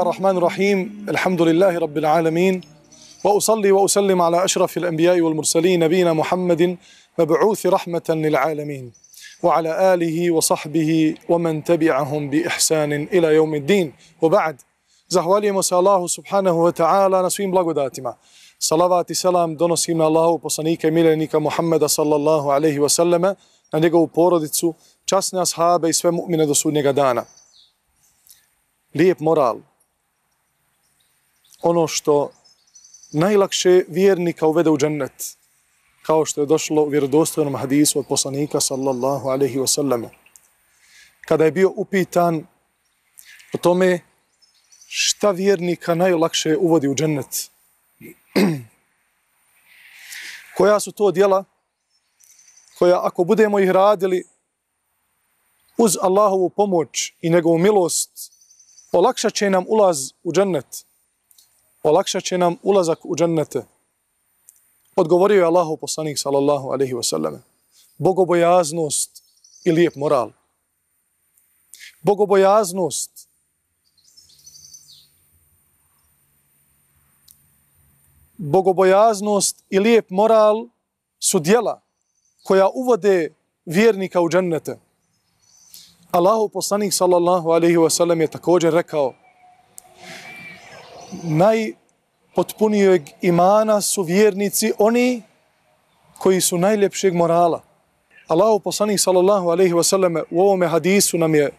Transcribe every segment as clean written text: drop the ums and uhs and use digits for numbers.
الرحمن الرحيم الحمد لله رب العالمين وأصلي وأسلم على أشرف الأنبياء والمرسلين نبينا محمد مبعوث رحمة للعالمين وعلى آله وصحبه ومن تبعهم بإحسان إلى يوم الدين وبعد zahvaljujemo se Allahu subhanahu wa ta'ala na svim blagodatima. Salavat i selam donosim na Allahu poslanika i miljenika Muhammeda sallallahu alaihi wa sallama, na njegovu porodicu, časne ashabe i sve mu'mine do sudnjega dana. Lijep moral. Ono što najlakše vjernika uvede u džennet, kao što je došlo u vjerodostojnom hadisu od poslanika sallallahu alaihi wa sallama. Kada je bio upitan o tome šta vjernika najlakše uvodi u džennet. Koja su to djela koja ako budemo ih radili uz Allahovu pomoć i njegovu milost, olakšat će nam ulaz u džennet. Olakšat će nam ulazak u džennete. Odgovorio je Allahov poslanik sallallahu alaihi wa sallam. Bogobojaznost i lijep moral. Bogobojaznost. Bogobojaznost i lijep moral su djela koja uvode vjernika u džennete. Allahov poslanik sallallahu alaihi wa sallam je također rekao: najpotpunijeg imana su vjernici oni koji su najljepšeg morala. Allahov poslanik sallallahu alaihi wa sallam u ovome hadisu nam je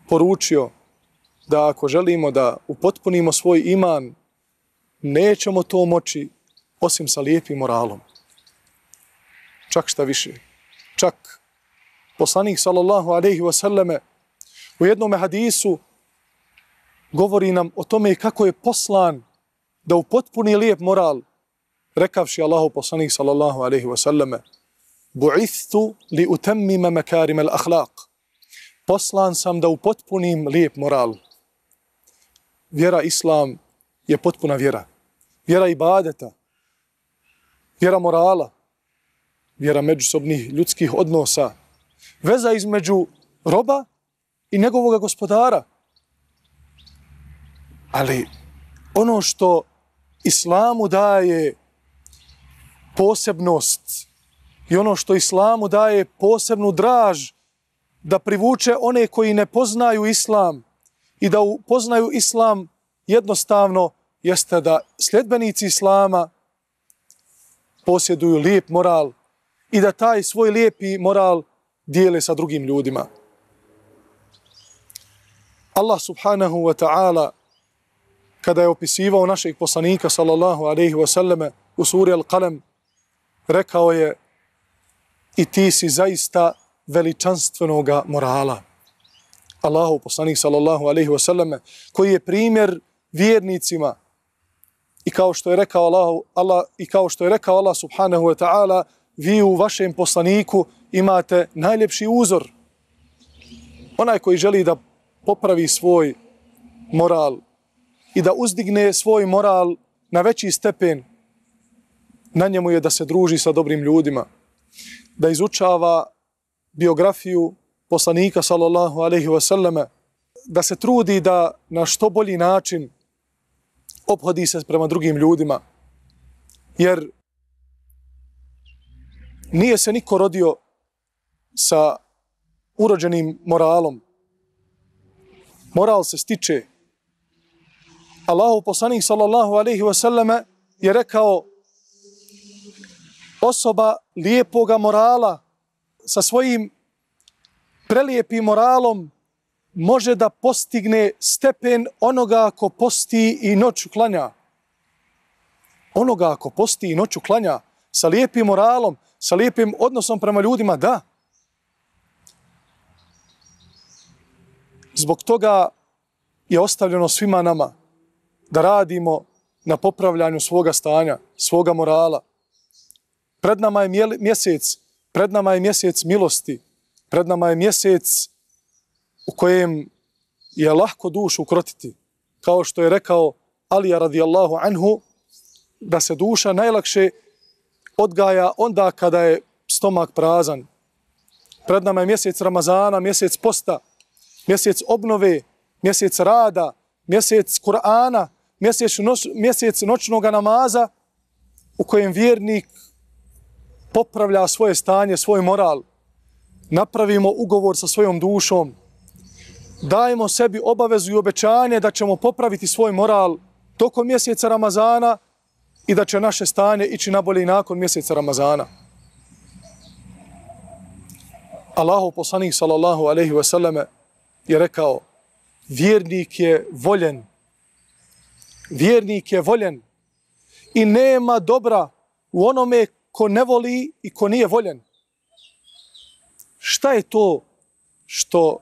poručio da ako želimo da upotpunimo svoj iman, nećemo to moći osim sa lijepim moralom. Čak šta više. Čak poslanik sallallahu alaihi wa sallame u jednom hadisu govori nam o tome kako je poslan da upotpuni lijep moral, rekavši Allahu poslanik sallallahu alaihi wa sallame: bu'ithtu li utammima makarim al-akhlaq. Poslan sam da upotpunim lijep moral. Vjera Islam je potpuna vjera. Vjera ibadeta, vjera morala, vjera međusobnih ljudskih odnosa, veza između roba i njegovog gospodara. Ali ono što Islamu daje posebnost i ono što Islamu daje posebnu draž da privuče one koji ne poznaju Islam i da upoznaju Islam jednostavno, jeste da sljedbenici Islama posjeduju lijep moral i da taj svoj lijepi moral dijele sa drugim ljudima. Allah subhanahu wa ta'ala kada je opisivao našeg poslanika sallallahu alaihi wa sallame u suri Al-Qalam, rekao je: i ti si zaista veličanstvenoga morala. Allahov poslanik sallallahu alaihi wa sallame koji je primjer vjernicima i kao što je rekao Allah subhanahu wa ta'ala, vi u vašem poslaniku imate najljepši uzor. Onaj koji želi da popravi svoj moral i da uzdigne svoj moral na veći stepen, na njemu je da se druži sa dobrim ljudima, da izučava biografiju poslanika sallallahu alaihi wa sallame, da se trudi da na što bolji način ophodi se prema drugim ljudima. Jer nije se niko rodio sa urođenim moralom. Moral se stiče. Allahov poslanik sallallahu alaihi wa sallame je rekao: osoba lijepoga morala sa svojim prelijepim moralom može da postigne stepen onoga ko posti i noću klanja. Onoga ko posti i noću klanja sa lijepim moralom, sa lijepim odnosom prema ljudima, da. Zbog toga je ostavljeno svima nama da radimo na popravljanju svoga stanja, svoga morala. Pred nama je mjesec milosti, pred nama je mjesec u kojem je lahko dušu ukrotiti. Kao što je rekao Alija radijallahu anhu, da se duša najlakše odgaja onda kada je stomak prazan. Pred nama je mjesec Ramazana, mjesec posta, mjesec obnove, mjesec rada, mjesec Kur'ana, mjesec noćnog namaza u kojem vjernik popravlja svoje stanje, svoj moral. Napravimo ugovor sa svojom dušom. Dajemo sebi obavezu i obećanje da ćemo popraviti svoj moral tokom mjeseca Ramazana i da će naše stanje ići nabolje nakon mjeseca Ramazana. Allahov poslanik sallallahu alejhi ve selleme je rekao: vjernik je voljen. Vjernik je voljen i nema dobra u onome ko ne voli i ko nije voljen. Šta je to što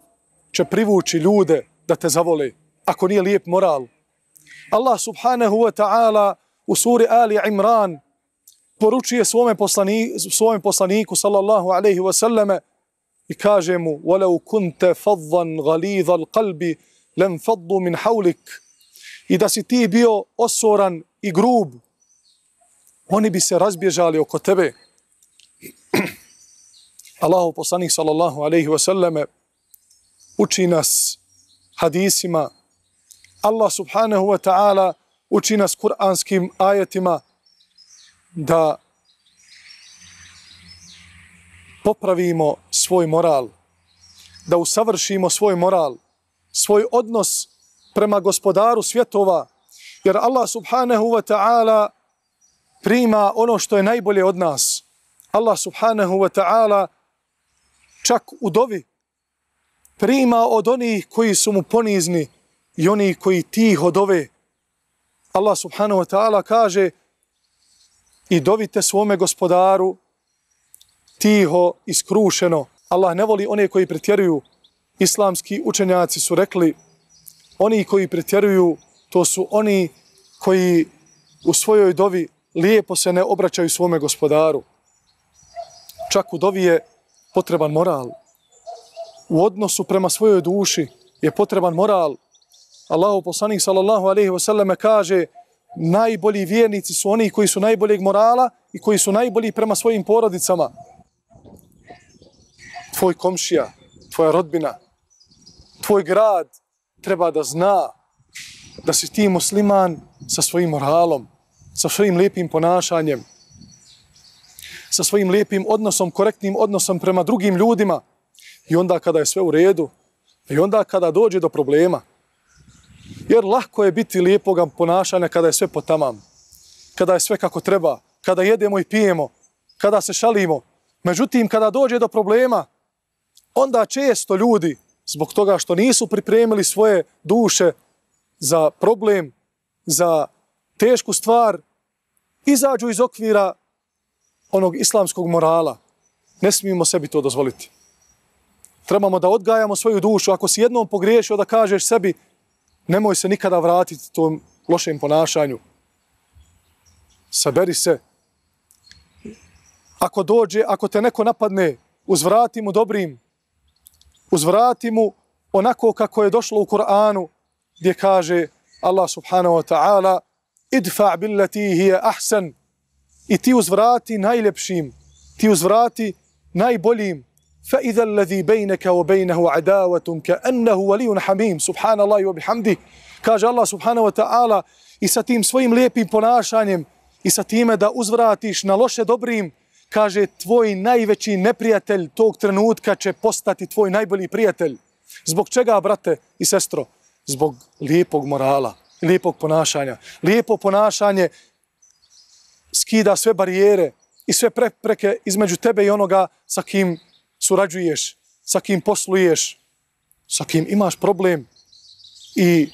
će privući ljude da te zavole ako nije lijep moral? Allah subhanahu wa ta'ala u suri Ali Imran poručuje svome poslaniku sallallahu alejhi ve selleme i kaže mu: وَلَوْ كُنْتَ فَضًّا غَلِيظَ الْقَلْبِ لَنْ فَضُّ مِنْ حَوْلِكَ. I da si ti bio osoran i grub, oni bi se razbježali oko tebe. Allahov poslanik sallallahu alejhi ve selleme uči nas hadisima. Allah subhanahu wa ta'ala uči nas kuranskim ajetima da popravimo svoj moral, da usavršimo svoj moral, svoj odnos prema gospodaru svjetova, jer Allah subhanahu wa ta'ala prima ono što je najbolje od nas. Allah subhanahu wa ta'ala čak u dovi prima od onih koji su mu ponizni i onih koji tiho dove. Allah subhanahu wa ta'ala kaže: i dovite svome gospodaru tiho i skrušeno. Allah ne voli one koji pretjeruju. Islamski učenjaci su rekli: oni koji pretjeruju, to su oni koji u svojoj dovi lijepo se ne obraćaju svome gospodaru. Čak u dovi je potreban moral. U odnosu prema svojoj duši je potreban moral. Allahov poslanik sallallahu alejhi ve selleme kaže: najbolji vjernici su oni koji su najboljeg morala i koji su najbolji prema svojim porodicama. Tvoj komšija, tvoja rodbina, tvoj grad treba da zna da si ti musliman sa svojim moralom, sa svojim lijepim ponašanjem, sa svojim lijepim odnosom, korektnim odnosom prema drugim ljudima. I onda kada je sve u redu, i onda kada dođe do problema. Jer lahko je biti lijepoga ponašanja kada je sve potamam, kada je sve kako treba, kada jedemo i pijemo, kada se šalimo. Međutim, kada dođe do problema, onda često ljudi, zbog toga što nisu pripremili svoje duše za problem, za tešku stvar, izađu iz okvira onog islamskog morala. Ne smijemo sebi to dozvoliti. Trebamo da odgajamo svoju dušu. Ako si jednom pogriješio, da kažeš sebi: nemoj se nikada vratiti tom lošem ponašanju. Saberi se. Ako te neko napadne, uzvrati mu dobrim. Uzvrati mu onako kako je došlo u Kur'anu, gdje kaže Allah subhanahu wa ta'ala: idfa' billati hiya ahsan. I ti uzvrati najljepšim, ti uzvrati najboljim. فَإِذَا الَّذِي بَيْنَكَ وَبَيْنَهُ عَدَاوَةٌ كَأَنَّهُ وَلِيٌّ حَمِيمٌ. Subhanallahi wa bihamdi. Kaže Allah subhanahu wa ta'ala, i sa tim svojim lijepim ponašanjem i sa time da uzvratiš na loše dobrim, kaže, tvoj najveći neprijatelj tog trenutka će postati tvoj najbolji prijatelj. Zbog čega, brate i sestro? Zbog lijepog morala, lijepog ponašanja. Lijepo ponašanje skida sve barijere i sve prepreke između tebe i onoga sa kim surađuješ, sa kim posluješ, sa kim imaš problem i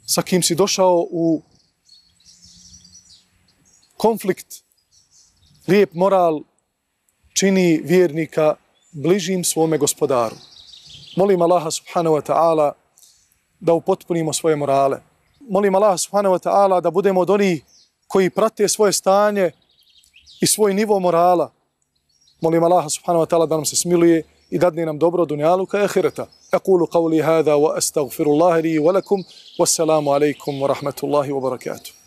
sa kim si došao u konflikt. Lijep moral čini vjernika bližim svome gospodaru. Molim Allaha subhanahu wa ta'ala da upotpunimo svoje morale. Molim Allaha subhanahu wa ta'ala da budemo od onih koji prate svoje stanje i svoj nivo morala. Molim Allaha subhanahu wa ta'ala da nam se smiluje i dadne nam dobro dunjaluka i ahireta. Aqulu qawli hada wa astaghfirullaha li wa lakum. Wassalamu alaikum wa rahmatullahi wa barakatuh.